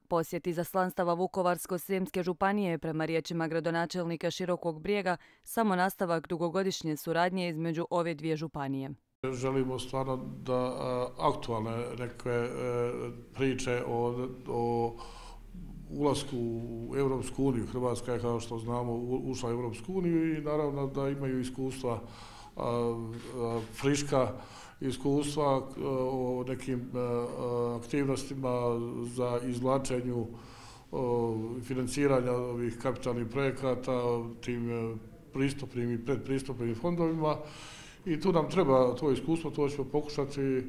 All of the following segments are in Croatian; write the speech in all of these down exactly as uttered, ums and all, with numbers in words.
Posjet izaslanstava Vukovarsko-srijemske županije prema riječima gradonačelnika Širokog Brijega samo nastavak dugogodišnje suradnje između ove dvije županije. Želimo stvarno da aktualne neke priče o, o ulasku u Europsku uniju, Hrvatska je kao što znamo ušla u Europsku uniju i naravno da imaju iskustva friška iskustva o nekim aktivnostima za izvlačenju financiranja ovih kapitalnih projekata tim pristupnim i predpristupnim fondovima i tu nam treba to iskustvo, to ćemo pokušati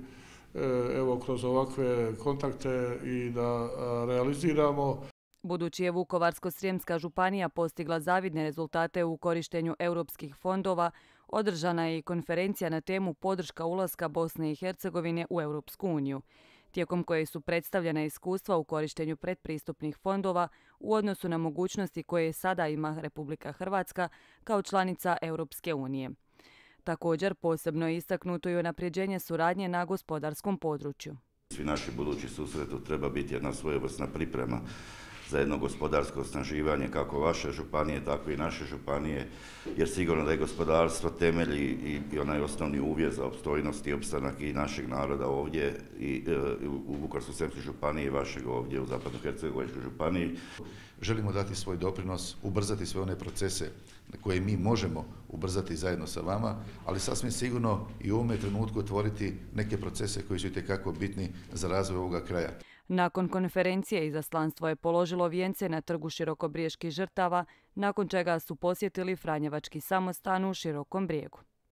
evo kroz ovakve kontakte i da realiziramo. Budući je Vukovarsko-srijemska županija postigla zavidne rezultate u korištenju europskih fondova, održana je i konferencija na temu podrška ulaska Bosne i Hercegovine u Europsku uniju, tijekom koje su predstavljena iskustva u korištenju predpristupnih fondova u odnosu na mogućnosti koje sada ima Republika Hrvatska kao članica Europske unije. Također, posebno je istaknuto i unapređenje suradnje na gospodarskom području. Svi naši budući susreti treba biti jedna svojevrsna priprema za jedno gospodarsko osnaživanje kako vaše županije, tako i naše županije, jer sigurno da je gospodarstvo temelj i, i onaj osnovni uvjet za opstojnost i opstanak i našeg naroda ovdje i e, u Vukovarsko-srijemskoj županiji i vašeg ovdje u Zapadno-hercegovačkoj županiji. Želimo dati svoj doprinos, ubrzati sve one procese koje mi možemo ubrzati zajedno sa vama, ali sasvim sigurno i u ovome trenutku otvoriti neke procese koji su itekako bitni za razvoj ovoga kraja. Nakon konferencije izaslanstvo je položilo vijence na trgu Širokobrijeških žrtava, nakon čega su posjetili Franjevački samostan u Širokom Brijegu.